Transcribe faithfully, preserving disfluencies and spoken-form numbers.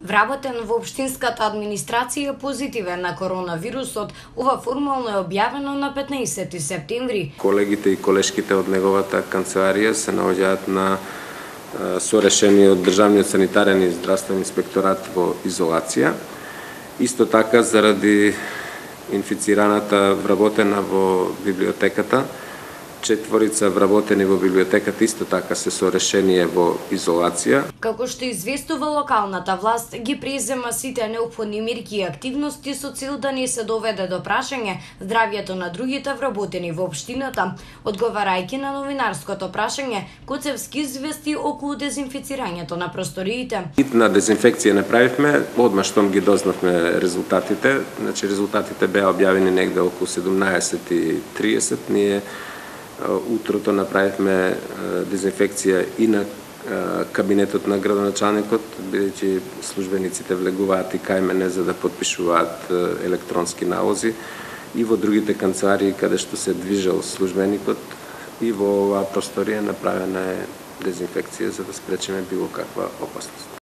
Вработен во општинската администрација позитивен на коронавирусот, ова формално е објавено на петнаесети септември. Колегите и колешките од неговата канцеларија се наоѓаат на со решение од Државниот санитарен и здравствен инспекторат во изолација. Исто така, заради инфицираната вработена во библиотеката, четворица вработени во библиотеката исто така се со решение во изолација. Како што известува локалната власт, ги презема сите неопходни мерки и активности со цел да не се доведе до прашање здравјето на другите вработени во општината. Одговарајќи на новинарското прашање, Коцевски извести околу дезинфицирањето на просториите. Хитна дезинфекција направивме, одма штом ги дознавме резултатите. Значи резултатите беа објавени негде околу седумнаесет и триесет. Ние утрото направивме дезинфекција и на кабинетот на градоначалникот, бидејќи службениците влегуваат и кај мене за да потпишуваат електронски налози, и во другите канцеларии каде што се движел службеникот, и во оваа просторија направена е дезинфекција за да спречиме било каква опасност.